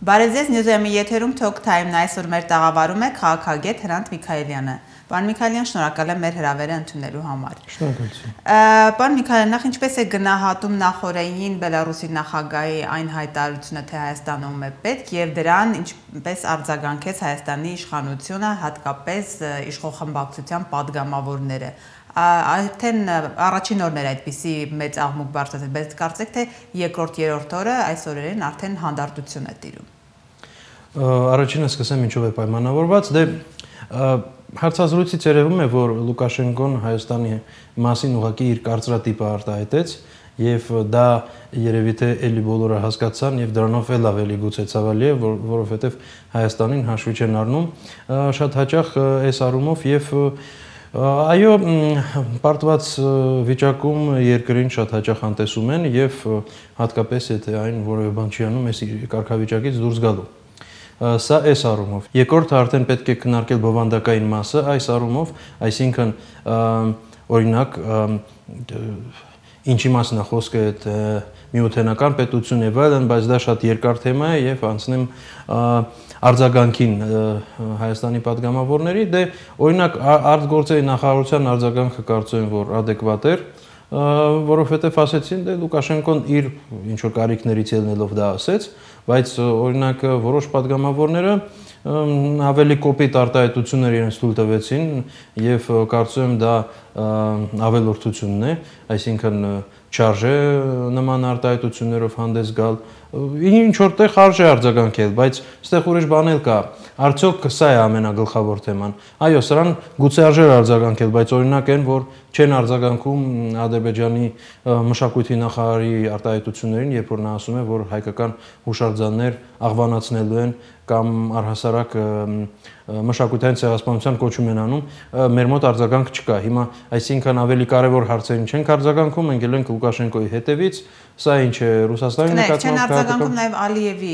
Բարև ձեզ, Նյուզերմի եթերում Talk Time-ն այսօր մեր տաղավարում է քաղաքագետ Հրանտ Միքայելյանը։ Պարոն Միքայելյան, շնորհակալ եմ մեր հրավերը ընդունելու համար։ Շնորհակալություն։ Պարոն Միքայելյան, նախ ինչպես է գնահատում նախօրեին Բելարուսի նախագահի այն հայտարարությունը, թե Հայաստանում է պետք եւ դրան ինչպես արձագանքեց Հայաստանի իշխանությունը, հատկապես իշխող խմբակցության падգամավորները։ Արդեն առաջին օրն էր այդպիսի մեծ աղմուկ բարձրացել, բայց կարծեք թե երկրորդ երրորդ օրը այս օրերին արդեն հանդարտություն է տիրում։ Առաջինը սկսեմ ինչով է պայմանավորված, հարցազրույցից երևում է, որ Լուկաշենկոն Հայաստանի մասին ուղղակի իր կարծրատիպը արտահայտեց եւ դա երևի թե էլի բոլորը հասկացան եւ դրանով էլ ավելի գուցե ցավալի է, որովհետեւ Հայաստանին հաշվի չեն առնում շատ հաճախ այս առումով եւ այո, պարտված վիճակում երկրին շատ հաճախ անտեսում են եւ հատկապես եթե այն որևէ բան չի անում, այս կարգավիճակից դուրս գալու։ Սա այս առումով։ Երկրորդը արդեն պետք է քննարկել բովանդակային մասը այս առումով, այսինքն օրինակ ինչի մասին է խոսքը այդ միութենական պետություն եւ այլն, բայց դա շատ երկար թեմա է եւ անցնեմ արձագանքին Հայաստանի падգամավորների, օրինակ արտգործերի նախարարության արձագանքը կարծում եմ, որ adekvat էր, որովհետեւ ասեցին, Լուկաշենկոն իր ինչ որ կարիքներից ելնելով դա ասեց, բայց օրինակ որոշ падգամավորները ավելի կոպիտ արտահայտություններ իրենց թույլ տվեցին եւ կարծում եմ դա ավելորդությունն է, այսինքն չարժե նման արտահայտություններով հանդես գալ, ինչ որտեղ արժե արձագանքել, բայց այստեղ ուրիշ բան էլ կա, արդյոք սա է ամենագլխավոր թեման։ Այո, սրան գուցե արժեր արձագանքել, բայց օրինակ են, որ չեն արձագանքում Ադրբեջանի մշակույթի նախարարի արտահայտություններին, երբ որ նա ասում է, որ հայկական հուշարձաններ աղվանացնելու են կամ առհասարակ մշակութային ցեղասպանության կոչում են անում, մեր մոտ արձագանք չկա։ Հիմա այսինքն ավելի կարևոր հարցերին չենք արձագանքում, ընկել ենք Լուկաշենկոյի հետևից, սա ինչ է Ռուսաստանի նկատմամբ չեն արձագանքում նաև Ալիևի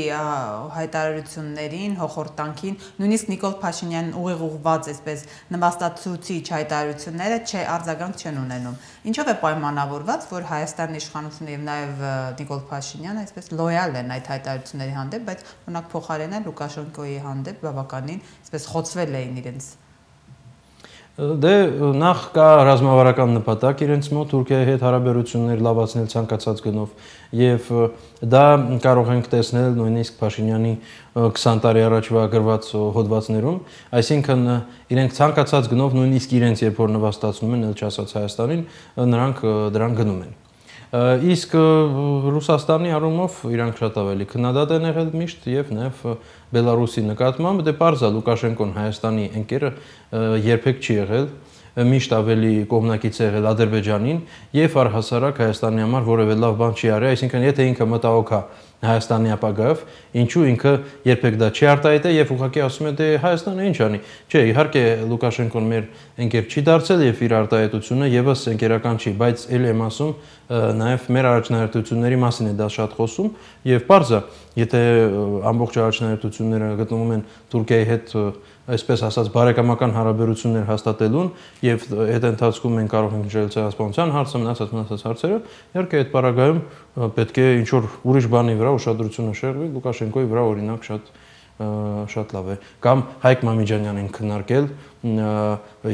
հայտարարություններին, հոխորտանքին, նույնիսկ Նիկոլ Փաշինյանն ուղիղ ուղղված այսպես նվաստացուցիչ հայտարարությունները արձագանք չեն ունենում։ Ինչով է պայմանավորված, որ Հայաստանի իշխանությունը եւ նաև Նիկոլ Փաշինյանը այսպես լոյալ են այդ հայտարարությունների հանդեպ, բայց օրինակ փոխարենը Լուկաշենկոյի հանդեպ բավականին այսպես խոցվել էին իրենց։ Նախ կա ռազմավարական նպատակ իրենց մոտ Թուրքիայի հետ հարաբերություններ լավացնել ցանկացած գնով եւ դա կարող ենք տեսնել նույնիսկ Փաշինյանի 20 տարի առաջվա գրված հոդվածներում, այսինքն իրենք ցանկացած գնով նույնիսկ իրենց երբ որ նվաստացնում են, ել չասած Հայաստանին, նրանք դրան գնում են։ Իսկ Ռուսաստանի առումով իրանք շատ ավելի քննադատ են եղել միշտ եւ նաեւ Բելարուսի նկատմամբ պարզ է Լուկաշենկոն Հայաստանի ընկերը երբեք չի եղել, միշտ ավելի կողմնակից է եղել Ադրբեջանին եւ առհասարակ Հայաստանի համար որևէ լավ բան չի արել, այսինքն եթե ինքը մտահոգ է Հայաստանի ապագայով, ինչու ինքը երբեք դա չի արտահայտել եւ ուղղակի ասում է Հայաստանը ինչ անի։ Չէ, իհարկե Լուկաշենկոն մեր ընկեր չի դարձել եւ իր արտահայտությունը եւս ընկերական չի, բայց ել եմ ասում նաև մեր առաջնահերթությունների մասին է դա շատ խոսում եւ պարզ է, եթե ամբողջ առաջնահերթությունները գտնվում են Թուրքիայի հետ այսպես ասած բարեկամական հարաբերություններ հաստատելուն եւ այդ ընթացքում մենք կարող ենք նշել ցեղասպանության հարցը, մնացած հարցերը, իհարկե այդ պարագայում պետք է ինչ որ ուրիշ բանի վրա ուշադրությունը շեղվի, Լուկաշենկոյի վրա օրինակ շատ լավ է, կամ Հայկ Մամիջանյանին քննարկել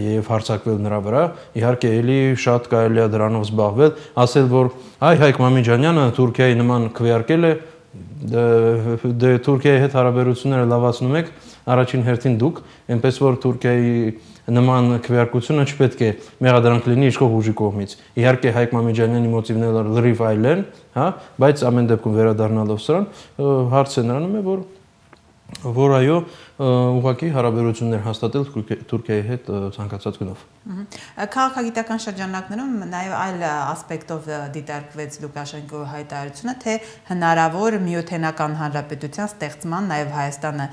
եւ հարձակվել նրա վրա, իհարկե էլի շատ կարելի է դրանով զբաղվել, ասել որ այ Հայկ Մամիջանյանը Թուրքիայի նման քվեարկել է, Թուրքիայի հետ հարաբերությունները լավացնում եք, առաջին հերթին դուք, այնպես որ Թուրքիայի նման քվեարկությունը չպետք է մեղադրանք լինի իշխող ուժի կողմից։ Իհարկե Հայկ Մամիջանյանի մոտիվները լրիվ այլ են, հա, բայց ամեն դեպքում վերադառնալով սրան, հարցը նրանում է, որ այո, ուղղակի հարաբերություններ հաստատել Թուրքիայի հետ ցանկացած գնով։ Քաղաքագիտական շրջանակներում նաև այլ ասպեկտով դիտարկվեց Լուկաշենկոյի հայտարարությունը, թե հնարավոր միութենական հանրապետության ստեղծման նաև Հայաստանը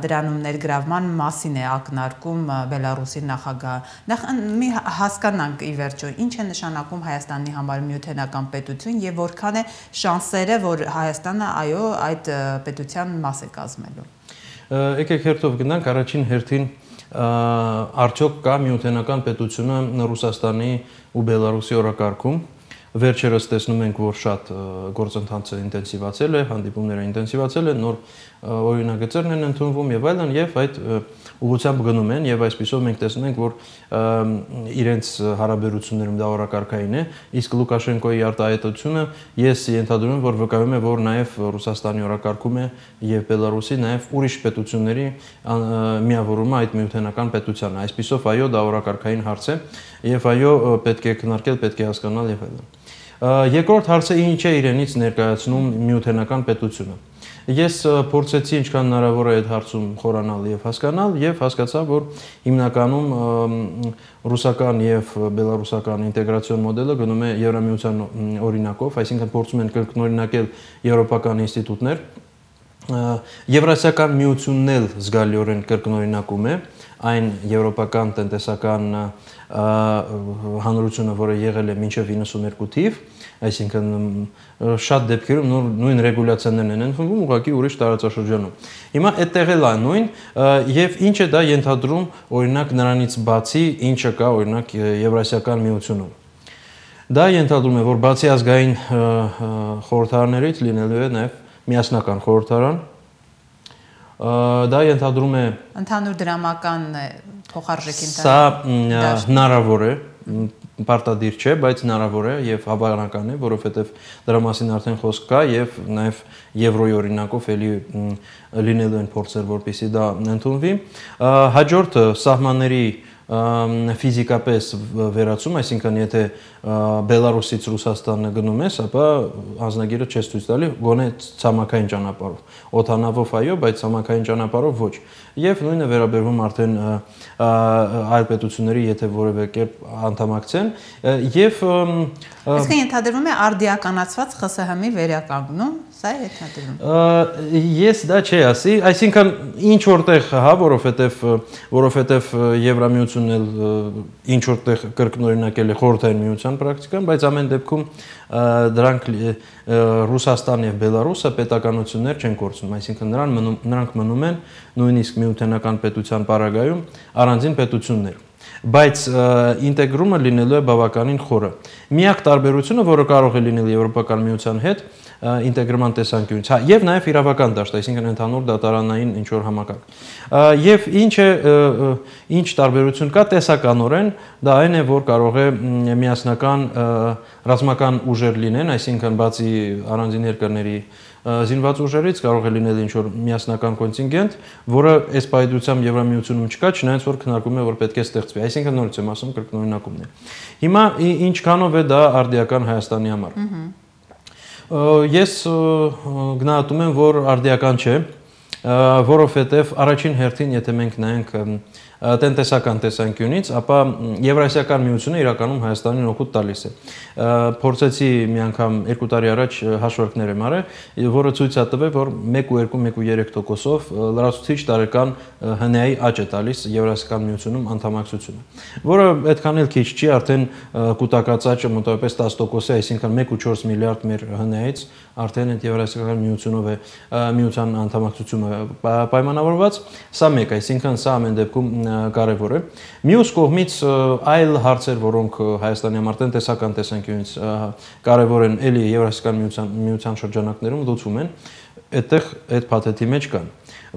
դրանում ներգրավման մասին է ակնարկում Բելարուսի նախագահը։ Նախ մի հասկանանք ի վերջո ինչ է նշանակում Հայաստանի համար միութենական պետություն եւ որքան է շանսերը, որ Հայաստանը այո այդ պետության մաս է կազմելու։ Եկեք հերթով գնանք առաջին հերթին արդյոք կա միութենական պետությունը Ռուսաստանի ու Բելարուսի օրակարգում վերջերս տեսնում ենք, որ շատ գործընթացը ինտենսիվացել է, հանդիպումները ինտենսիվացել են, նոր օրինագծերն են ընդունվում եւ այլն, եւ այդ ուղղությամբ գնում են եւ այսպիսով մենք տեսնում ենք, որ իրենց հարաբերություններում դա օրակարգային է, իսկ Լուկաշենկոյի արտահայտությունը ես ենթադրում եմ, որ վկայում է, որ նաեւ Ռուսաստանի օրակարգում է եւ Բելարուսի նաեւ ուրիշ պետությունների միավորումը այդ միութենական պետությանը։ Այսպիսով այո, դա օրակարգային հարց է եւ այո, պետք է քննարկել, պետք է հասկանալ եւ այլն։ Երկրորդ հարցը ինչ է իրենից ներկայացնում միութենական պետությունը։ Ես փորձեցի ինչքան հնարավոր է այդ հարցում խորանալ եւ հասկանալ եւ հասկացա, որ հիմնականում ռուսական եւ բելարուսական ինտեգրացիոն մոդելը գնում է Եվրամիության օրինակով, այսինքն փորձում են կրկնօրինակել եվրոպական ինստիտուտներ, Եվրասիական միությունն էլ զգալիորեն կրկնօրինակում է այն եվրոպական տնտեսական հանրությունը, որը եղել է մինչև 92 թիվ, այսինքն շատ դեպքերում նույն ռեգուլյացիաներն են ընդունվում ուղղակի ուրիշ տարածաշրջանում։ Հիմա այդտեղ էլ նույն եւ ինչ է դա ենթադրում օրինակ նրանից բացի ինչը կա օրինակ Եվրասիական միությունում։ Դա ենթադրում է, որ բացի ազգային խորհրդարաններից լինելու է նաեւ միասնական խորհրդարան, դա ենթադրում է ընդհանուր դրամական փոխարժեքի Սա հնարավոր է, պարտադիր չէ, բայց հնարավոր է եւ հավանական է, որովհետեւ դրա մասին արդեն խոսք կա եւ նաեւ եվրոյի օրինակով էլի լինելու են փորձեր, որպեսզի դա ընդունվի։ Հաջորդը սահմանների ֆիզիկապես վերացում, այսինքն եթե Բելարուսից Ռուսաստանը գնում ես, ապա անձնագիրը չես ցույց տալի, գոնե ցամաքային ճանապարհով, օդանավով այո, բայց ցամաքային ճանապարհով ոչ։ Եվ նույնը վերաբերվում արդեն այլ պետությունների, եթե որևէ կերպ անդամակցեն, եւ Այսինքն ենթադրվում է արդիականացված ԽՍՀՄ-ի վերականգնում, սա է ենթադրվում։ Ես դա չի ասի, այսինքն ինչ որտեղ, հա, որովհետեւ Եվրամիությունն էլ ինչ որտեղ կրկնօրինակել է խորհրդային միության պրակտիկան, բայց ամեն դեպքում դրանք Ռուսաստան եւ Բելարուսը պետականություններ չեն կորցնում, այսինքն նրանք մնում են նույնիսկ միութենական պետության պարագայում առանձին պետություններ։ Բայց ինտեգրումը լինելու է բավականին խորը։ Միակ տարբերությունը, որը կարող է լինել Եվրոպական միության հետ, ինտեգրման տեսանկյունից, հա, եւ նաեւ իրավական դաշտ, այսինքն ընդհանուր դատարանային ինչ որ համակարգ։ Եվ ինչ տարբերություն կա տեսականորեն, դա այն է, որ կարող է միասնական ռազմական ուժեր լինեն, այսինքն բացի առանձին երկրների զինված ուժերից կարող է լինել ինչ-որ միասնական կոնտինգենտ, որը այս պայծությամբ Եվրամիությունում չկա, չնայած որ քննարկում է, որ պետք է ստեղծվի։ Այսինքն նորից եմ ասում կրկնօրինակումն է։ Հիմա ինչքանով է դա արդիական Հայաստանի համար։ Ես գնահատում եմ, որ արդիական չէ, որովհետև առաջին հերթին, եթե մենք նայենք տնտեսական տեսանկյունից, ապա Եվրասիական միությունը իրականում Հայաստանին օգուտ տալիս է։ Փորձեցի մի անգամ 2 տարի առաջ հաշվարկներ եմ արել, որը ցույց է տվել, որ 1.2-1.3%-ով լրացուցիչ տարեկան ՀՆԱ-ի աճ է տալիս Եվրասիական միությունում անդամակցությունը, որը այդքան էլ քիչ չի, արդեն կուտակած աճը մոտավորապես 10% է, այսինքն 1.4 միլիարդ մեր ՀՆԱ-ից արդեն այդ Եվրասիական միությունով է միության անդամակցությունը պայմանավորված, սա մեկ, այսինքն սա ամեն դեպքում կարևոր է։ Մյուս կողմից այլ հարցեր, որոնք Հայաստանի համար տնտեսական տեսանկյունից կարևոր են, էլի Եվրասիական միության շրջանակներում լուծվում են, այդտեղ այդ փաթեթի մեջ կան։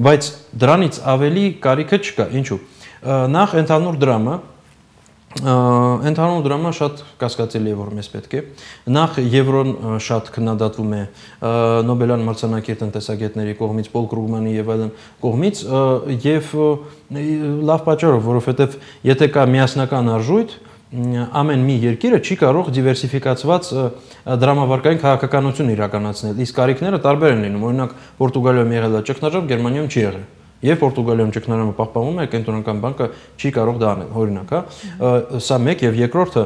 Բայց դրանից ավելի կարիքը չկա, ինչու՞։ Նախ ընդհանուր դրամը շատ կասկածելի է, որ մեզ պետք է։ Նախ Եվրոն շատ քննադատվում է Նոբելյան մրցանակի տնտեսագետների կողմից, Պոլ Կրուգմանի եւ այլն կողմից, եւ լավ պատճառով, որովհետեւ եթե կա միասնական արժույթ, ամեն մի երկիրը չի կարող դիվերսիֆիկացված դրամավարկային քաղաքականություն իրականացնել, իսկ կարիքները տարբեր են լինում։ Օրինակ Պորտուգալիայում եղել է ճգնաժամ, Գերմանիայում չի եղել։ Եվ Պորտուգալիայում ճգնաժամը պահպանվում է, կենտրոնական բանկը չի կարող դա անել, օրինակ, հա։ Սա մեկ եւ երկրորդը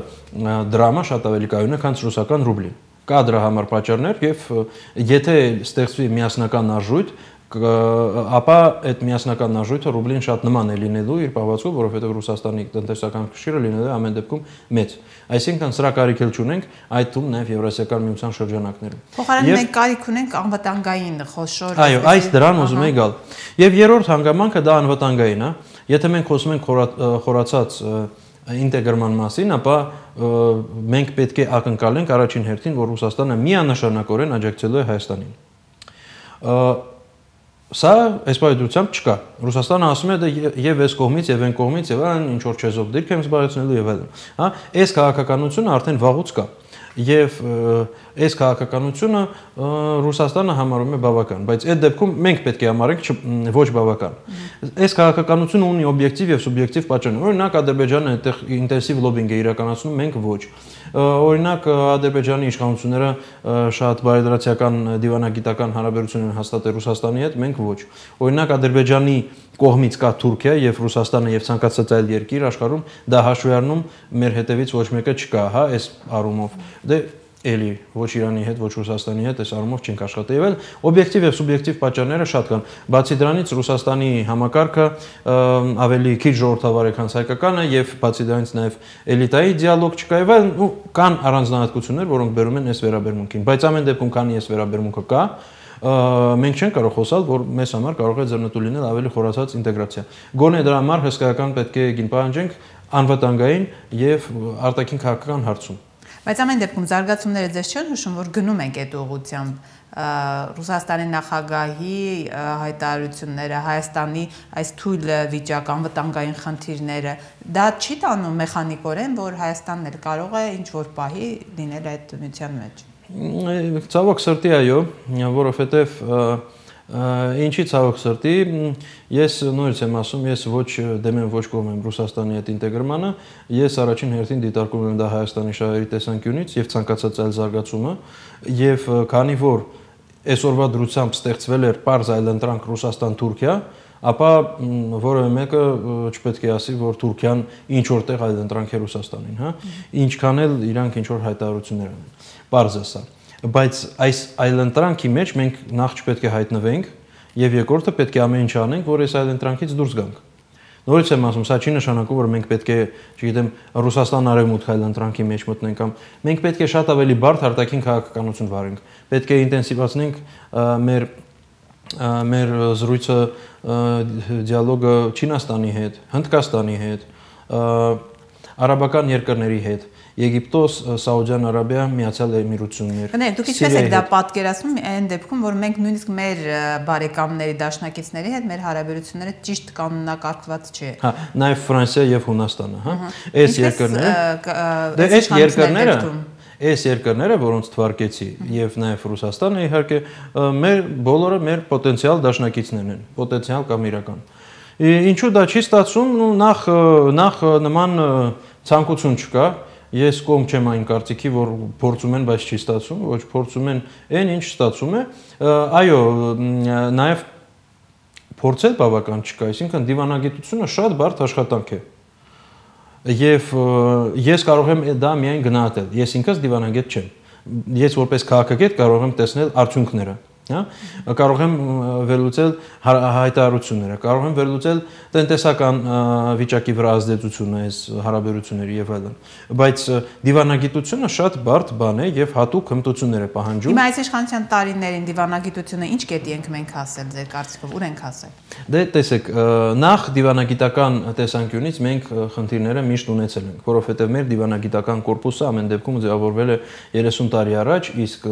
դրամը շատ ավելի կայուն է, քան ռուսական ռուբլին։ Կա դրա համար պատճառներ եւ եթե ստեղծվի միասնական արժույթ, ապա այդ միասնական արժույթը ռուբլին շատ նման է լինելու իր պահվածքով, որովհետև Ռուսաստանի տնտեսական կշիռը լինելու է ամեն դեպքում մեծ։ Այսինքն սրա կարիք էլ չունենք, այդ թվում նաև Եվրասիական միության շրջանակներում։ Փոխարենը մենք կարիք ունենք անվտանգային խոշոր։ Այո, այս դրան ուզում եի գալ։ Եվ երրորդ հանգամանքը դա անվտանգային է։ Եթե մենք խոսում ենք խորացած ինտեգրման մասին, ապա մենք պետք է ակնկալենք առաջին հերթին, որ Ռուսաստանը միանշանակորեն աջակցելու է Հայաստանին։ Սա այս պայմանությամբ չկա։ Ռուսաստանը ասում է դա եւ այս կողմից եւ այն կողմից եւ այն ինչ որ չեզոք դիրք եմ զբաղեցնելու եւ այլն։ Հա, այս քաղաքականությունը արդեն վաղուց կա։ Եվ այս քաղաքականությունը Ռուսաստանը համարում է բավական, բայց այդ դեպքում մենք պետք է համարենք ոչ բավական։ Այս քաղաքականությունը ունի օբյեկտիվ եւ սուբյեկտիվ պատճառներ։ Օրինակ Ադրբեջանը այդտեղ ինտենսիվ լոբինգ է իրականացնում, մենք ոչ։ Օրինակ Ադրբեջանի իշխանությունները շատ բարեդրացիական դիվանագիտական հարաբերություն են հաստատել Ռուսաստանի հետ, մենք ոչ։ Օրինակ Ադրբեջանի կողմից կա Թուրքիա եւ Ռուսաստանը եւ ցանկացած այլ երկիր աշխարհում դա հաշվի առնում մեր հետևից ոչ մեկը չկա, հա, այս առումով։ Դե էլի ոչ Իրանի հետ, ոչ Ռուսաստանի հետ այս առումով չենք աշխատել եւ այլ օբյեկտիվ եւ սուբյեկտիվ պատճառները շատ կան։ Բացի դրանից Ռուսաստանի համակարգը ավելի քիչ ժողովրդավար է, քան հայկականը եւ բացի դրանից նաեւ էլիտայի դիալոգ չկա եւ այլ կան առանձնահատկություններ, որոնք բերում են այս վերաբերմունքին, բայց ամեն դեպքում քանի այս վերաբերմունքը կա, մենք չենք կարող խոսալ, որ մեզ համար կարող է ձեռնտու լինել ավելի խորացած ինտեգրացիա։ Գոնե դրա համար հսկայական պետք է գին պահանջենք անվտանգային եւ արտաքին քաղաքական հարցում։ Բայց ամեն դեպքում զարգացումները ձեզ չեն հուշում, որ գնում ենք այդ ուղղությամբ Ռուսաստանի նախագահի հայտարարությունները, Հայաստանի այս թույլ վիճակ, անվտանգային խնդիրները, դա չի տանում մեխանիկորեն, որ Հայաստանն էլ կարող է ինչ-որ պահի լինել այդ միության մեջ։ Ցավոք սրտի այո, որովհետև ինչի ցավոք սրտի, ես նորից եմ ասում, ես ոչ դեմ եմ, ոչ կողմ եմ Ռուսաստանի հետ ինտեգրմանը, ես առաջին հերթին դիտարկում եմ դա Հայաստանի շահերի տեսանկյունից եւ ցանկացած այլ զարգացումը, եւ քանի որ այսօրվա դրությամբ ստեղծվել էր պարզ այլընտրանք Ռուսաստան-Թուրքիա, ապա որևէ մեկը չպետք է ասի, որ Թուրքիան ինչ որտեղ այլընտրանք է Ռուսաստանին, հա, ինչքան էլ իրանք ինչ որ հայտարարություններ են։ Պարզ է սա։ Բայց այս այլընտրանքի մեջ մենք նախ չպետք է հայտնվենք եւ երկրորդը պետք է ամեն ինչ անենք, որ այս այլընտրանքից դուրս գանք։ Նորից եմ ասում, սա չի նշանակում, որ մենք պետք է, չգիտեմ, Ռուսաստան արևմուտք այլընտրանքի մեջ մտնենք կամ մենք պետք է շատ ավելի բարդ արտաքին քաղաքականություն վարենք։ Պետք է ինտենսիվացնենք մեր զրույցը դիալոգը Չինաստանի հետ, Հնդկաստանի հետ, արաբական երկրների հետ, Եգիպտոս, Սաուդյան Արաբիա, Միացյալ Էմիրություններ։ Գնա, դուք ինչպես եք դա պատկերացնում այն դեպքում, որ մենք նույնիսկ մեր բարեկամների, դաշնակիցների հետ մեր հարաբերությունները ճիշտ կանոնակարգված չի։ Հա, նաև Ֆրանսիա եւ Հունաստանը, հա։ Այս երկրները, այս երկրները, որոնց թվարկեցի, եւ նաեւ Ռուսաստանը իհարկե, մեր բոլորը մեր պոտենցիալ դաշնակիցներն են, պոտենցիալ կամ իրական։ Ինչու դա չի ստացվում, նախ նման ցանկություն չկա։ Ես կողմ չեմ այն կարծիքի, որ փորձում են, բայց չի ստացվում, ոչ փորձում են այն, ինչ ստացվում է։ Այո, նաև փորձել բավական չկա, այսինքն դիվանագիտությունը շատ բարդ աշխատանք է։ Եվ ես կարող եմ դա միայն գնահատել։ Ես ինքս դիվանագետ չեմ։ Ես որպես քաղաքագետ կարող եմ տեսնել արդյունքները։ Հա, կարող եմ վերլուծել հայտարարությունները, կարող եմ վերլուծել տնտեսական վիճակի վրա ազդեցությունը այս հարաբերությունների եւ այլն, բայց դիվանագիտությունը շատ բարդ բան է եւ հատուկ հմտություններ է պահանջում։ Հիմա այս իշխանության տարիներին դիվանագիտությունը ինչ կետի ենք մենք հասել, ձեր կարծիքով ուր ենք հասել։ Դե տեսեք, նախ դիվանագիտական տեսանկյունից մենք խնդիրները միշտ ունեցել ենք, որովհետեւ մեր դիվանագիտական կորպուսը ամեն դեպքում ձևավորվել է 30 տարի առաջ, իսկ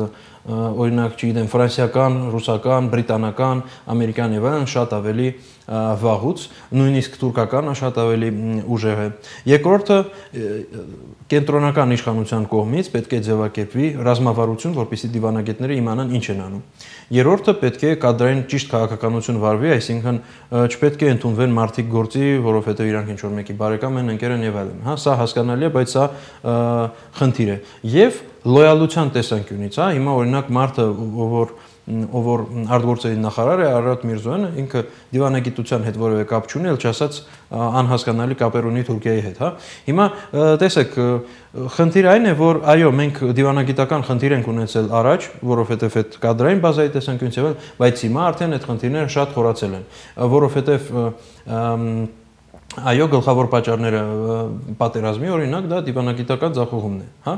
օրինակ, չգիտեմ, ֆրանսիական, ռուսական, բրիտանական, ամերիկյան եւ այլն շատ ավելի վաղուց, նույնիսկ թուրքականը շատ ավելի ուժեղ է։ Երկրորդը կենտրոնական իշխանության կողմից պետք է ձևակերպվի ռազմավարություն, որպեսզի դիվանագետները իմանան ինչ են անում։ Երրորդը պետք է կադրային ճիշտ քաղաքականություն վարվի, այսինքն չպետք է ընդունվեն մարդիկ գործի, որովհետեւ իրանք ինչ որ մեկի բարեկամ են, ընկեր են եւ այլն, հա, սա հասկանալի է, բայց սա խնդիր է։ Եվ լոյալության տեսանկյունից, հա, հիմա օրինակ մարդը, ով որ արտգործերի նախարար է, Արարատ Միրզոյանը, ինքը դիվանագիտության հետ որևէ կապ չունի, ել չասած անհասկանալի կապեր ունի Թուրքիայի հետ, հա։ Հիմա տեսեք, խնդիրը այն է, որ այո, մենք դիվանագիտական խնդիր ենք ունեցել առաջ, որովհետև այդ կադրային բազայի տեսանկյունից եւ այլ, բայց հիմա արդեն այդ խնդիրները շատ խորացել են, որովհետև այո, գլխավոր պատճառները պատերազմի օրինակ դա դիվանագիտական ձախողումն է, հա,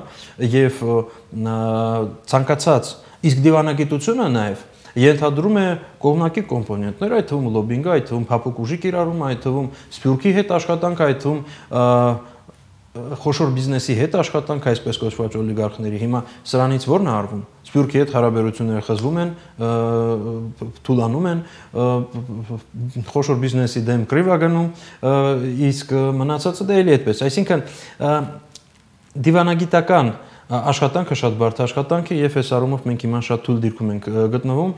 եւ ցանկացած իսկ դիվանագիտությունը նաեւ ենթադրում է կողմնակի կոմպոնենտներ, այդ թվում լոբինգը, այդ թվում փափուկ ուժի կիրառումը, այդ թվում սփյուռքի հետ աշխատանքը, այդ թվում խոշոր բիզնեսի հետ աշխատանք, այսպես կոչված օլիգարխների, հիմա սրանից ո՞րն է արվում։ Սփյուռքի հետ հարաբերությունները խզվում են, թուլանում են, խոշոր բիզնեսի դեմ կռիվ է գնում, իսկ մնացածը դա էլի այդպես։ Այսինքն դիվանագիտական աշխատանքը շատ բարդ աշխատանք է եւ այս առումով մենք հիմա շատ թույլ դիրքում ենք գտնվում,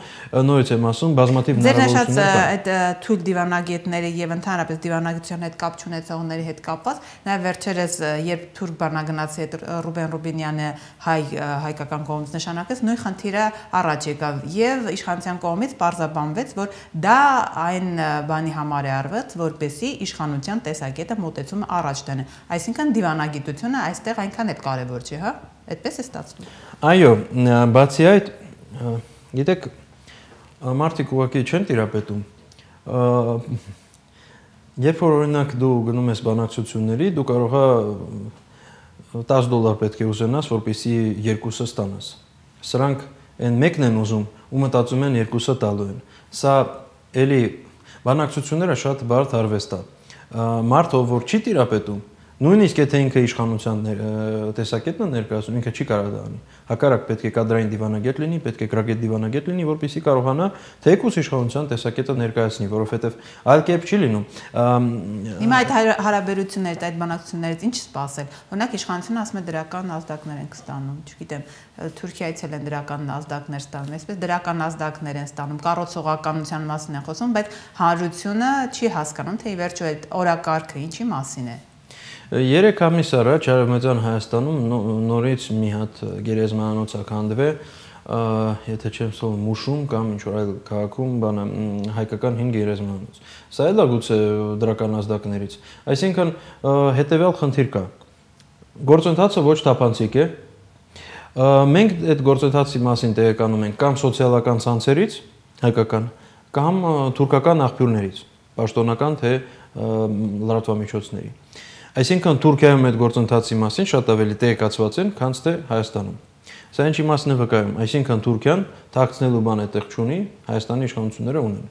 նորից եմ ասում, բազմաթիվ հնարավորություններ կան։ Ձեր նշած այդ թույլ դիվանագետների եւ ընդհանրապես դիվանագիտության հետ կապ չունեցողների հետ կապված, նաեւ վերջերս երբ թուրք բանագնացի հետ Ռուբեն Ռուբինյանը հայկական կողմից նշանակեց, նույն խնդիրը առաջ եկավ եւ իշխանության կողմից պարզաբանվեց, որ դա այն բանի համար է արված, որպեսզի իշխանության տեսակետը մոտեցումը առաջ տանը։ Այսինքն դիվանագիտությունը այստեղ այնքան էլ կարեւոր չէ, հա։ Այդպես է ստացվում։ Այո, բացի այդ, գիտեք, մարդիկ ուղղակի չեն տիրապետում։ Երբ որ օրինակ դու գնում ես բանակցությունների, դու կարող ես $10 պետք է ուզենաս, որպեսզի երկուսը ստանաս։ Սրանք այն մեկն են ուզում, ու մտածում են երկուսը տալու են։ Սա էլի բանակցությունները շատ բարդ արվեստ է։ Մարդ, ով որ չի տիրապետում, նույնիսկ եթե ինքը իշխանության տեսակետն է ներկայացնում, ինքը չի կարող դա անի։ Հակառակ պետք է կադրային դիվանագետ լինի, պետք է գրագետ դիվանագետ լինի, որպեսզի կարողանա թեկուզ իշխանության տեսակետը ներկայացնի, որովհետև այլ կերպ չի լինում։ Հիմա այդ հարաբերություններից, այդ բանակցություններից ինչ սպասել։ Օրինակ իշխանությունը ասում է դրական ազդակներ են ստանում, չգիտեմ, Թուրքիայից էլ են դրական ազդակներ ստանում, այսպես դրական ազդակներ են ստանում, կառուցողականության մասին են խոսում, բայց հանրությունը չի հասկանում, թե ի վերջո այդ օրակարգը ինչի մասին է։ 3 ամիս առաջ Արևմտյան Հայաստանում նորից մի հատ գերեզմանոց ականդվե, եթե չեմ սխալվում, Մուշում կամ ինչ-որ այլ քաղաքում հայկական 5 գերեզմանոց։ Սա էլ է գուցե դրական ազդակներից։ Այսինքն հետևյալ խնդիր կա։ Գործընթացը ոչ թափանցիկ է։ Մենք այդ գործընթացի մասին տեղեկանում ենք կամ սոցիալական ցանցերից, հայկական, կամ թուրքական աղբյուրներից, պաշտոնական թե լրատվամիջոցների։ Այսինքն Թուրքիայում այդ գործընթացի մասին շատ ավելի տեղեկացված են, քան թե Հայաստանում։ Սա ինչ իմաստն է վկայում, այսինքն Թուրքիան թաքցնելու բան այդտեղ չունի, Հայաստանի իշխանությունները ունեն։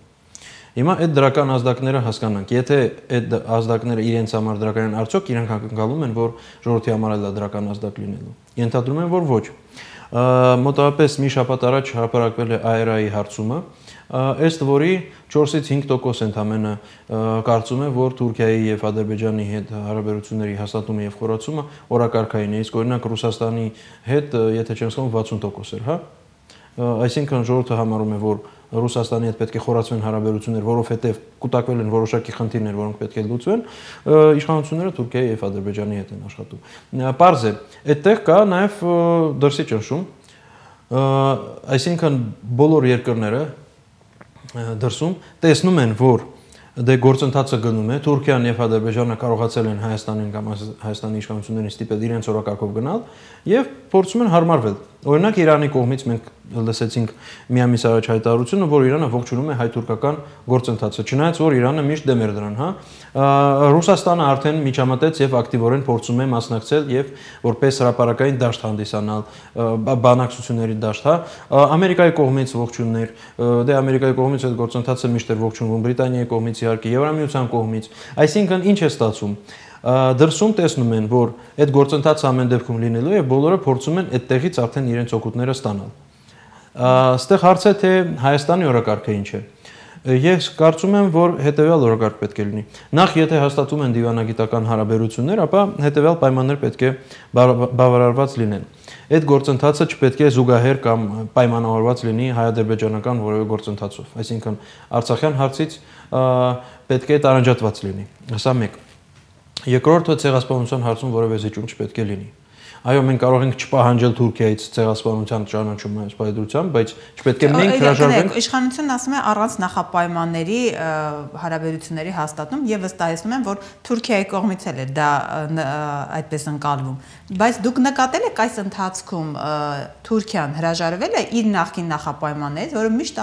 Հիմա այդ դրական ազդակները հասկանանք, եթե այդ ազդակները իրենց համար դրական են, արդյոք իրենք ակնկալում են, որ ժողովրդի համար էլ դրական ազդակ լինելու։ Ենթադրում են, որ ոչ։ Մոտավորապես մի շաբաթ առաջ հրապարակվել է AERA-ի հարցումը, ըստ որի 4-ից 5% ընդամենը կարծում է, որ Թուրքիայի եւ Ադրբեջանի հետ հարաբերությունների հաստատումը եւ խորացումը օրակարգային է, իսկ օրինակ Ռուսաստանի հետ, եթե չեմ սխալվում, 60% էր, հա։ Այսինքն ժողովուրդը համարում է, որ Ռուսաստանի հետ պետք է խորացվեն հարաբերություններ, որովհետեւ կուտակվել են որոշակի խնդիրներ, որոնք պետք է լուծվեն, իշխանությունները Թուրքիայի եւ Ադրբեջանի հետ են աշխատում։ Պարզ է, այդտեղ կա նաեւ դրսի ճնշում, այսինքն բոլոր երկրները դրսում տեսնում են, որ դե գործընթացը գնում է, Թուրքիան եւ Ադրբեջանը կարողացել են Հայաստանին կամ Հայաստանի իշխանություններին ստիպել իրենց օրակարգով գնալ եւ փորձում են հարմարվել։ Օրինակ Իրանի կողմից մենք լսեցինք մի ամիս առաջ հայտարարությունը, որ Իրանը ողջունում է հայ-թուրքական գործընթացը, չնայած որ Իրանը միշտ դեմ էր դրան, հա։ Ռուսաստանը արդեն միջամտեց եւ ակտիվորեն փորձում է մասնակցել եւ որպես հրապարակային դաշտ հանդիսանալ, բանակցությունների դաշտ, հա։ Ամերիկայի կողմից ողջուններ, դե Ամերիկայի կողմից այդ գործընթացը միշտ էր ողջունվում, Բրիտանիայի կողմից իհարկե, Եվրամիության կողմից։ Այսինքն ինչ է ստացվում։ Դրսում տեսնում են, որ այդ գործընթացը ամեն դեպքում լինելու է եւ բոլորը փորձում են այդտեղից արդեն իրենց օգուտները ստանալ։ Այստեղ հարց է, թե Հայաստանի օրակարգը ինչ է։ Ես կարծում եմ, որ հետեւյալ օրակարգ պետք է լինի։ Նախ, եթե հաստատում են դիվանագիտական հարաբերություններ, ապա հետեւյալ պայմաններ պետք է բավարարված լինեն։ Այդ գործընթացը չպետք է զուգահեռ կամ պայմանավորված լինի հայ-ադրբեջանական որևէ գործընթացով։ Այսինքն Արցախյան հարցից պետք է տարանջատված լինի։ Սա մեկ։ Երկրորդը ցեղասպանության հարցում որևէ զիջում չպետք է լինի։ Այո, մենք կարող ենք չպահանջել Թուրքիայից ցեղասպանության ճանաչում սպայդրությամբ, բայց չպետք է մենք հրաժարվենք։ Իշխանությունն ասում է առանց նախապայմանների հարաբերությունների հաստատում եւ վստահեցնում են, որ Թուրքիայի կողմից էլ է դա այդպես ընկալվում։ Բայց դուք նկատել եք այս ընթացքում Թուրքիան հրաժարվել է իր նախկին նախապայմաններից, որը միշտ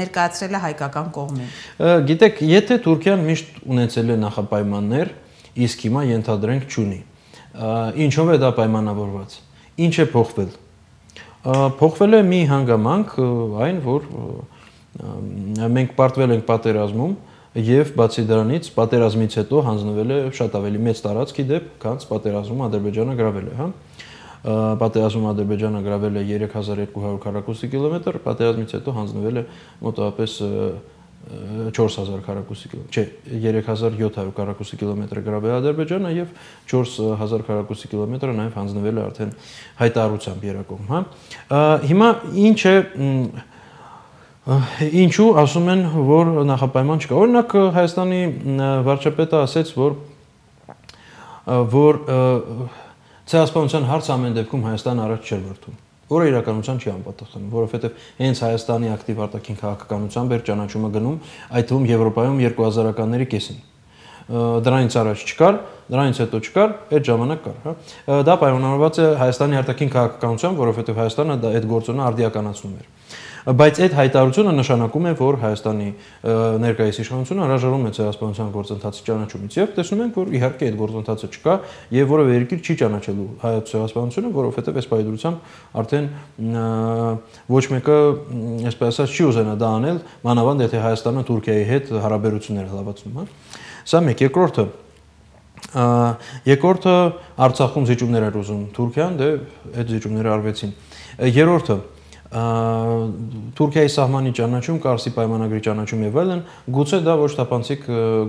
ներկայացրել է հայկական կողմին։ Գիտեք, եթե Թուրքիան միշտ ունեցել է նախապայմաններ, իսկ հիմա ենթադրենք չունի։ Ինչով է դա պայմանավորված։ Ինչ է փոխվել։ Փոխվել է մի հանգամանք, այն որ մենք պարտվել ենք պատերազմում, Եվ բացի դրանից պատերազմից հետո հանձնվել է շատ ավելի մեծ տարածքի դեպ, քան պատերազմում Ադրբեջանը գրավել է, հա։ Պատերազմում Ադրբեջանը գրավել է 3200 քառակուսի կիլոմետր, պատերազմից հետո հանձնվել է մոտավորապես 4000 քառակուսի կիլոմետր, չէ, 3700 քառակուսի կիլոմետր գրավել Ադրբեջանը եւ 4000 քառակուսի կիլոմետրը նաեւ հանձնվել է արդեն հայտարարությամբ Երակոմ, հա։ Հիմա ինչ է ինչու ասում են, որ նախապայման չկա։ Օրինակ Հայաստանի վարչապետը ասաց, որ ցեղասպանության հարց ամեն դեպքում Հայաստանը առաջ չէր բերում, որը իրականության չի անպատասխանում, որովհետև հենց Հայաստանի ակտիվ արտաքին քաղաքականությամբ էր ճանաչումը գնում, այդ թվում Եվրոպայում 2000-ականների կեսին։ Դրանից առաջ չկար, դրանից հետո չկար, այդ ժամանակ կար, հա։ Դա պայմանավորված է Հայաստանի արտաքին քաղաքականությամբ, որովհետև Հայաստանը այդ գործոնը արդիականացնում էր։ Բայց այդ հայտարարությունը նշանակում է, որ Հայաստանի ներկայիս իշխանությունը հրաժարվում է ցեղասպանության գործընթացի ճանաչումից եւ տեսնում ենք, որ իհարկե այդ գործընթացը չկա եւ որևէ երկիր չի ճանաչելու հայոց ցեղասպանությունը, որովհետեւ այս պայմանությամբ արդեն ոչ մեկը, այսպես ասած, չի ուզենա դա անել, մանավանդ եթե Հայաստանը Թուրքիայի հետ հարաբերություններ լավացնում, հա։ Սա մեկ, երկրորդը Արցախում զիջումներ էր ուզում Թուրքիան, դե այդ զիջումները արվեցին։ Երրորդը Թուրքիայի սահմանի ճանաչում, Կարսի պայմանագրի ճանաչում եւ այլն, գուցե դա ոչ թափանցիկ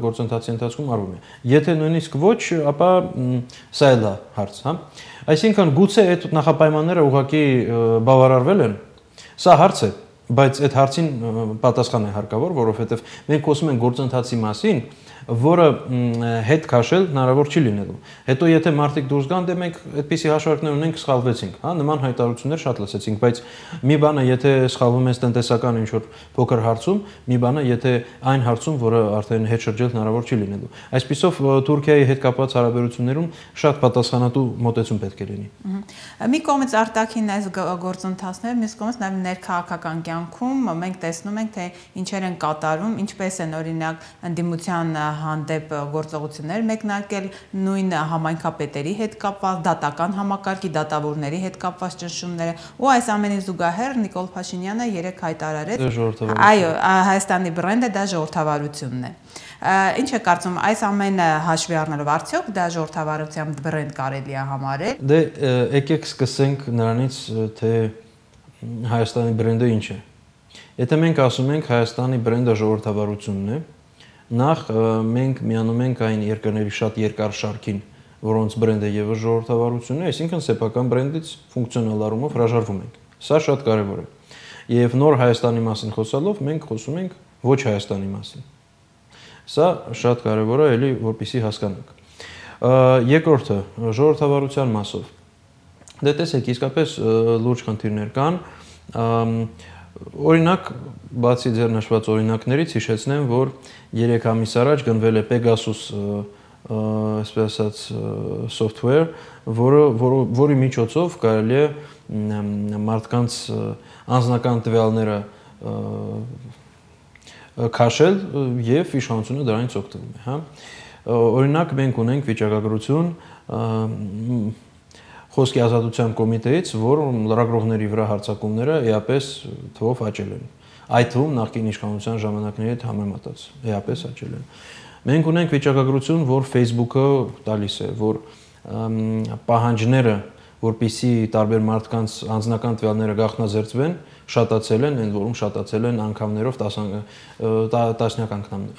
գործընթացի ընթացքում արվում է։ Եթե նույնիսկ ոչ, ապա սա էլ է հարց, հա։ Այսինքն գուցե այդ նախապայմանները ուղղակի բավարարվել են, սա հարց է, բայց այդ հարցին պատասխան է հարկավոր, որովհետեւ մենք խոսում ենք գործընթացի մասին, որը հետ քաշել հնարավոր չի լինելու։ Հետո եթե մարդիկ դուրս գան, դե մենք այդպիսի հաշվարկներ ունենք, սխալվեցինք, հա, նման հայտարարություններ շատ լսեցինք, բայց մի բանը եթե սխալվում ես տնտեսական ինչ-որ փոքր հարցում, մի բանը եթե այն հարցում, որը արդեն հետ շրջել հնարավոր չի լինելու։ Այսպիսով Թուրքիայի հետ կապված հարաբերություններում շատ պատասխանատու մոտեցում պետք է լինի։ Մի կողմից արտաքին այս գործընթացները, մյուս կողմից նաև ներքաղաքական կյանքում մենք տեսնում ենք, թե ինչեր են կատարում, ինչպես են օրինակ ընդդիմության հանդեպ գործողություններ մեկնարկել, նույն համայնքապետերի հետ կապված, դատական համակարգի դատավորների հետ կապված ճնշումները, ու այս ամենին զուգահեռ Նիկոլ Փաշինյանը երեք հայտարարեց, այո, Հայաստանի բրենդը դա ժողովրդավարությունն է։ Ինչ է կարծում, այս ամենը հաշվի առնելով արդյոք դա ժողովրդավարության բրենդ կարելի է համարել։ Դե եկեք սկսենք նրանից, թե Հայաստանի բրենդը ինչ է։ Եթե մենք ասում ենք Հայաստանի բրենդը ժողովրդավարությունն է, նախ մենք միանում ենք այն երկրների շատ երկար շարքին, որոնց բրենդը եւս ժողովրդավարությունն է, այսինքն սեփական բրենդից ֆունկցիոնալ առումով հրաժարվում ենք։ Սա շատ կարևոր է։ Եվ նոր Հայաստանի մասին խոսալով մենք խոսում ենք ոչ Հայաստանի մասին։ Սա շատ կարևոր է, էլի որպեսզի հասկանանք։ Երկրորդը ժողովրդավարության մասով։ Դե տեսեք, իսկապես լուրջ խնդիրներ կան։ Օրինակ, բացի ձեր նշված օրինակներից հիշեցնեմ, որ 3 ամիս առաջ գնվել է Pegasus, այսպես ասած, software, որի միջոցով կարելի է մարդկանց անձնական տվյալները քաշել եւ իշխանությունը դրանից օգտվում է, հա։ Օրինակ մենք ունենք վիճակագրություն Խոսքի ազատության կոմիտեից, որ լրագրողների վրա հարձակումները էապես թվով աճել են։ Այդ թվում նախկին իշխանության ժամանակների հետ համեմատած էապես աճել են։ Մենք ունենք վիճակագրություն, որ Facebook-ը տալիս է, որ պահանջները, որպեսզի տարբեր մարդկանց անձնական տվյալները գաղտնազերծվեն, շատացել են, ընդ որում շատացել են անգամներով, տասնյակ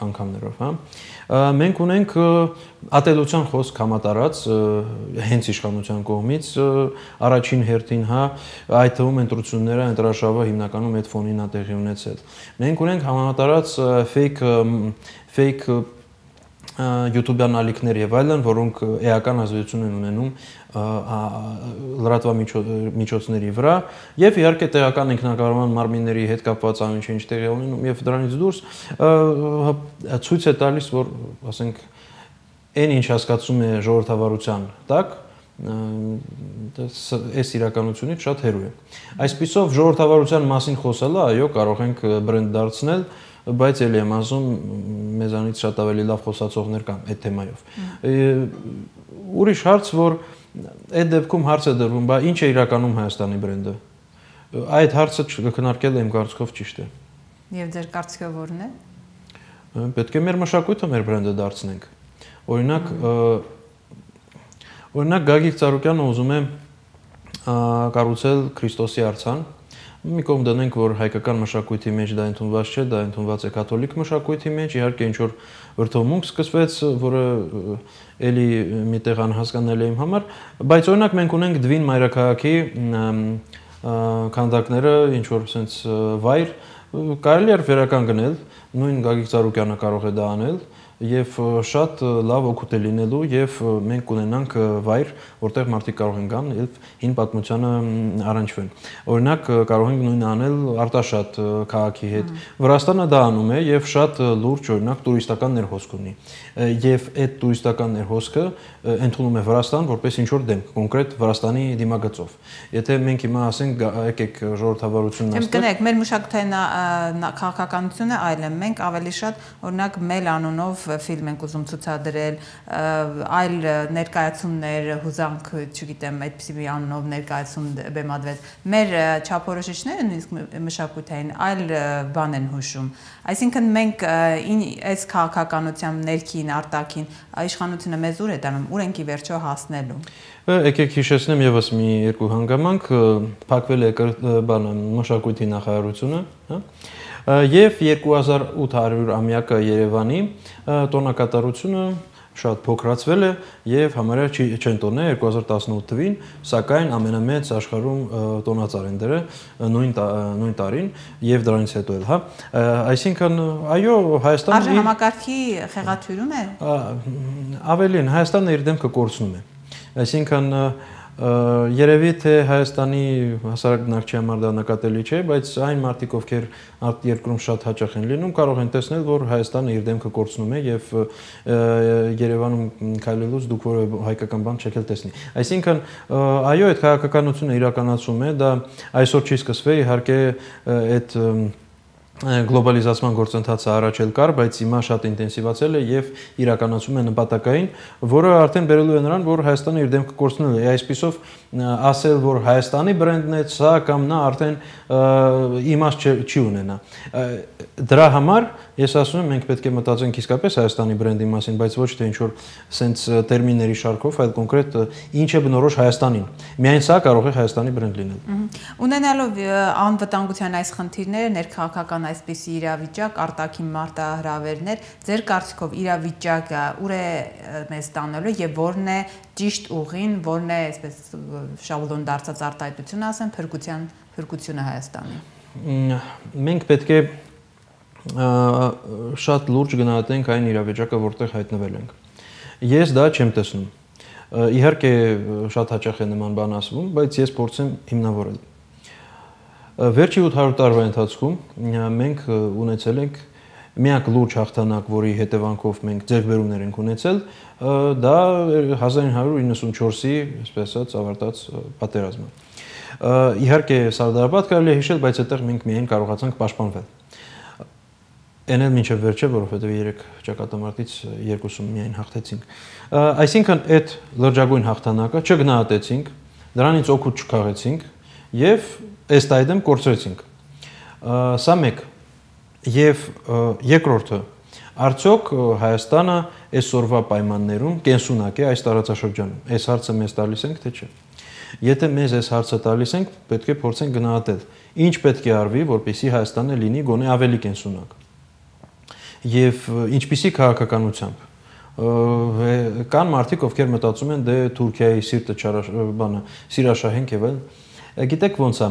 անգամներով, հա։ Մենք ունենք ատելության խոսք համատարած հենց իշխանության կողմից առաջին հերթին, հա, այդ թվում ընտրությունները, ընտրաշավը հիմնականում այդ ֆոնին է տեղի ունեցել։ Մենք ունենք համատարած fake YouTube-յան ալիքներ եւ այլն, որոնք էական ազդեցություն են ունենում լրատվամիջոցների վրա եւ իհարկե տեղական ինքնակառավարման մարմինների հետ կապված ամեն ինչ տեղի ունենում եւ դրանից դուրս ցույց է տալիս, որ ասենք այն ինչ հասկացում է ժողովրդավարության տակ այս իրականությունից շատ հեռու է։ Այսպիսով ժողովրդավարության մասին խոսելը, այո, կարող ենք բրենդ դարձնել, բայց էլի եմ ասում, մեզանից շատ ավելի լավ խոսացողներ կան այդ թեմայով։ Ուրիշ հարց, որ այդ դեպքում հարց է դրվում, բա ինչ է իրականում Հայաստանի բրենդը։ Այդ հարցը քննարկել եմ կարծիքով ճիշտ է։ Եվ ձեր կարծիքով ո՞րն է։ Պետք է մեր մշակույթը մեր բրենդը դարձնենք։ Օրինակ Գագիկ Ծառուկյանը ուզում է կառուցել Քրիստոսի արձան։ Մի կողմ դնենք, որ հայկական մշակույթի մեջ դա ընդունված չէ, դա ընդունված է կաթոլիկ մշակույթի մեջ, իհարկե ինչ որ վրդովմունք սկսվեց, որը էլի միտեղ անհասկանալի է իմ համար, բայց օրինակ մենք ունենք Դվին մայրաքաղաքի քանդակները, ինչ որ sense վայր, կարելի է վերականգնել, նույն Գագիկ Ծառուկյանը կարող է դա անել եւ շատ լավ օգուտ է լինելու եւ մենք կունենանք վայր, որտեղ մարդիկ կարող են գան եւ հին պատմությանը առնչվեն։ Օրինակ կարող ենք նույնը անել Արտաշատ քաղաքի հետ։ Վրաստանը դա անում է եւ շատ լուրջ օրինակ տուրիստական ներհոսք ունի։ Եվ այդ տուրիստական ներհոսքը ընդունում է Վրաստան որպես ինչ որ դեմք, կոնկրետ Վրաստանի դիմագծով։ Եթե մենք հիմա ասենք եկեք ժողովրդավարությունն այստեղ։ Կներեք, մեր մշակութային քաղաքականությունը այլ է։ Մենք ավելի շատ օրինակ Մել անունով ֆիլմ ենք ուզում ցուցադրել, այլ ներկայացումներ, հուզանք, չգիտեմ, այդպիսի մի անունով ներկայացում բեմադրել։ Մեր չափորոշիչները նույնիսկ մշակութային այլ բան են հուշում։ Այսինքն մենք այս քաղաքականությամբ ներքին, արտաքին իշխանությունը մեզ ուր է տանում, ուր ենք ի վերջո հասնելու։ Եկեք հիշեցնեմ եւս մի երկու հանգամանք, փակվել է մշակույթի նախարարությունը, հա։ Եվ 2800-ամյակը Երևանի տոնակատարությունը շատ փոքրացվել է եւ համարյա չեն տոնել 2018 թվին, սակայն ամենամեծ աշխարհում տոնածառ են դրել նույն տարին եւ դրանից հետո էլ, հա։ Այսինքն, այո, Հայաստանը արժանամակարգի խեղաթյուրում է։ Ավելին, Հայաստանը իր դեմքը կորցնում է։ Այսինքն երևի թե Հայաստանի հասարակ բնակչի համար դա նկատելի չէ, բայց այն մարդիկ, ովքեր արտերկրում շատ հաճախ են լինում, կարող են տեսնել, որ Հայաստանը իր դեմքը կորցնում է եւ Երևանում քայլելուց դուք որևէ հայկական բան չեք էլ տեսնի։ Այսինքն, այո, այդ քաղաքականությունը իրականացում է, դա այսօր չի սկսվել, իհարկե այդ գլոբալիզացման գործընթացը առաջ էլ կար, բայց հիմա շատ ինտենսիվացել է եւ իրականացում է նպատակային, որը արդեն բերելու է նրան, որ Հայաստանը իր դեմքը կորցնել է։ Այսպիսով ասել, որ Հայաստանի բրենդն է սա կամ նա արդեն իմաստ չի ունենա։ Դրա համար ես ասում եմ, մենք պետք է մտածենք իսկապես Հայաստանի բրենդի մասին, բայց ոչ թե ինչ որ սենց տերմինների շարքով, այլ կոնկրետ ինչ է բնորոշ Հայաստանին։ Միայն սա կարող է Հայաստանի բրենդ լինել։ Ունենալով անվտանգության այս խնդիրները, ներքաղաքական այսպիսի իրավիճակ, արտաքին մարտահրավերներ, ձեր կարծիքով իրավիճակը ուր է մեզ տանելու եւ որն է ճիշտ ուղին, որն է այսպես շաբլոն դարձած արտահայտությունը, ասեմ, փրկությունը Հայաստանի։ Մենք պետք է շատ լուրջ գնահատենք այն իրավիճակը, որտեղ հայտնվել ենք։ Ես դա չեմ տեսնում։ Իհարկե շատ հաճախ է նման բան ասվում, բայց ես փորձեմ հիմնավորել։ Վերջի 800 տարվա ընթացքում մենք ունեցել ենք միակ լուրջ հաղթանակ, որի հետևանքով մենք ձեռքբերումներ ենք ունեցել, դա 1994-ի, այսպես ասած, ավարտած պատերազմը։ Իհարկե Սարդարապատ կարելի է հիշել, բայց այդտեղ մենք միայն կարողացանք պաշտպանվել։ Այն էլ մինչև վերջը, որովհետև 3 ճակատամարտից 2-ում միայն հաղթեցինք։ Այսինքն այդ լրջագույն հաղթանակը չգնահատեցինք, դրանից օգուտ չքաղեցինք եւ ըստ այդմ կորցրեցինք։ Սա մեկ։ Եվ երկրորդը, արդյոք Հայաստանը այսօրվա պայմաններում կենսունակ է այս տարածաշրջանում։ Այս հարցը մեզ տալիս ենք, թե չէ։ Եթե մեզ այս հարցը տալիս ենք, պետք է փորձենք գնահատել, ինչ պետք է արվի, որպեսզի Հայաստանը լինի գոնե ավելի կենսունակ։ Եվ ինչպիսի քաղաքականությամբ կան մարդիկ, ովքեր մտածում են դե Թուրքիայի սիրտը սիրաշահենք եւ այլն։ Գիտեք ոնց է,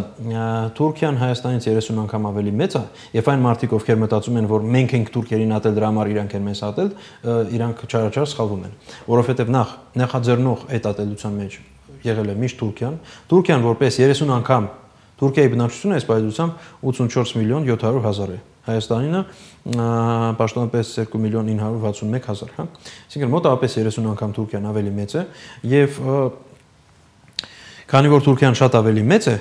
Թուրքիան Հայաստանից 30 անգամ ավելի մեծ է, եւ այն մարդիկ, ովքեր մտածում են, որ մենք ենք թուրքերին ատել, դրա համար իրանք են մեզ ատել, իրանք չարաչար սխալվում են, որովհետեւ նախաձեռնող այդ ատելության մեջ եղել է միշտ Թուրքիան, Թուրքիան որպես 30 անգամ Թուրքիայի բնակչությունը այս պայծությամբ 84 միլիոն 700 հազար է, Հայաստանինը պաշտոնապես 2 միլիոն 961 հազար, հա, այսինքն մոտավորապես 30 անգամ Թուրքիան ավելի մեծ է եւ քանի որ Թուրքիան շատ ավելի մեծ է,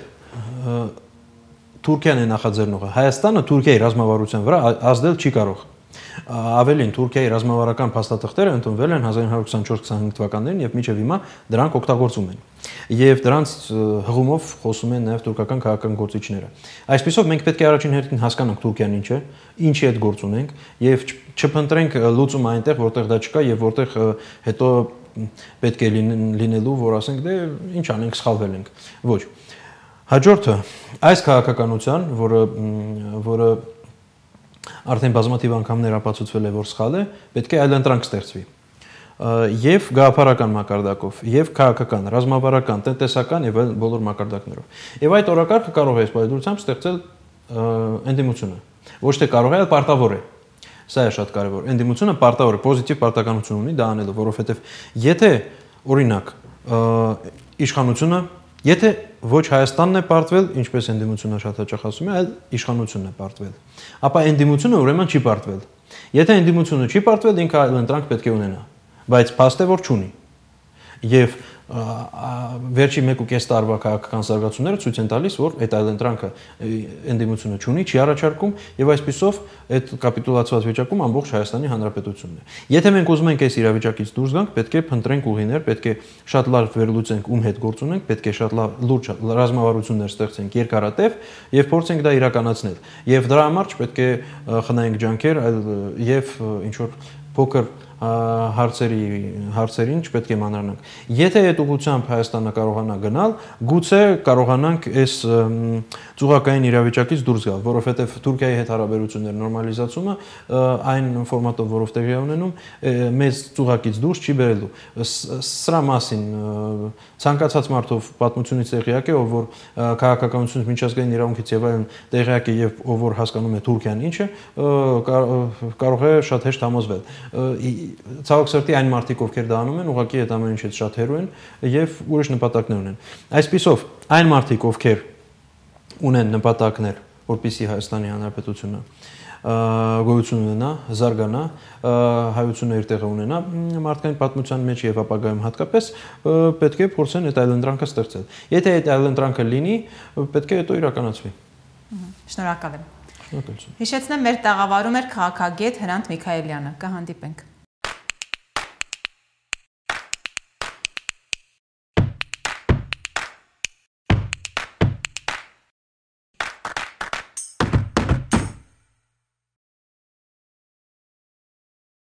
Թուրքիան է նախաձեռնողը, Հայաստանը Թուրքիայի ռազմավարության վրա ազդել չի կարող։ Ավելին Թուրքիայի ռազմավարական փաստաթղթերը ընդունվել են 1924-25 թվականներին եւ մինչեւ հիմա դրանք օգտագործում են։ Եվ դրանց հղումով խոսում են նաեւ թուրքական քաղաքական գործիչները։ Այսպեսով մենք պետք է առաջին հերթին հասկանանք Թուրքիան ինչ է, ինչի հետ գործ ունենք եւ չփնտրենք լուծում այնտեղ, որտեղ դա չկա եւ որտեղ հետո պետք է լինելու, որ ասենք դե ինչ անենք, սխալվել ենք։ Ոչ։ Հաջորդը այս քաղաքականության, որը արդեն բազմաթիվ անգամներ ապացուցվել է, որ սխալ է, պետք է այլընտրանք ստեղծվի։ Եվ գաղափարական մակարդակով, եւ քաղաքական, ռազմավարական, տնտեսական եւ այլ բոլոր մակարդակներով։ Եվ այդ օրակարգը կարող է սպայդությամբ ստեղծել ընդդիմությունը։ Ոչ թե կարող է, այլ պարտավոր է։ Սա է շատ կարևոր։ Ընդդիմությունը պարտավոր է, պոզիտիվ պարտականություն ունի դա անելու, որովհետեւ եթե օրինակ իշխանությունը, եթե ոչ Հայաստանն է պարտվել, ինչպես ընդդիմությունը շատ հաճախ ասում է, այլ իշխանությունն է պարտվել, ապա ընդդիմությունը ուրեմն չի պարտվել։ Եթե ընդդիմությունը չի պարտվել, ինքը այլընտրանք պետք է ունենա, բայց փաստ է որ չունի։ Եվ վերջի 1.5 տարվա քաղաքական զարգացումները ցույց են տալիս, որ այդ այլընտրանքը ընդդիմությունը չունի, չի առաջարկում եւ այսպիսով այդ կապիտուլացված վիճակում ամբողջ Հայաստանի Հանրապետությունն է։ Եթե մենք ուզում ենք այս իրավիճակից դուրս գանք, պետք է փնտրենք ուղիներ, պետք է շատ լավ վերլուծենք ում հետ գործ ունենք, պետք է շատ լավ լուրջ ռազմավարություններ ստեղծենք երկարատև եւ փորձենք դա իրականացնել։ Եվ դրա համար չպետք է խնայենք ջանքեր, այլ եւ ինչ որ փոքր հարցերին չպետք է մանրանանք։ Եթե այդ ուղղությամբ Հայաստանը կարողանա գնալ, գուցե կարողանանք այս ծուղակային իրավիճակից դուրս գալ, որովհետև Թուրքիայի հետ հարաբերությունների նորմալիզացումը այն ֆորմատով, որով տեղի է ունենում, մեծ ծուղակից դուրս չի բերելու։ Սրա մասին ցանկացած մարդով պատմությունից տեղյակ է, ով որ քաղաքականությունից միջազգային իրավունքից եւ այլն տեղյակ է եւ ով որ հասկանում է Թուրքիան ինչ է, կարող է շատ հեշտ համոզվել։ Ցավոք սրտի այն մարդիկ, ովքեր դա անում են, ուղղակի այդ ամեն ինչից շատ հեռու են եւ ուրիշ նպատակներ ունեն։ Այսպիսով, այն մարդիկ, ովքեր ունեն նպատակներ, որպեսզի Հայաստանի Հանրապետությունը գոյություն ունենա, զարգանա, հայությունը իր տեղը ունենա մարդկային պատմության մեջ եւ ապագայում հատկապես պետք է փորձեն այդ այլընտրանքը ստեղծել։ Եթե այդ այլընտրանքը լինի, պետք է հետո իրականացվի։ Շնորհակալ եմ։ Հիշեցնեմ, մեր տաղավարում էր քաղաքագետ Հրանտ Միքայելյանը։ Կհանդիպենք։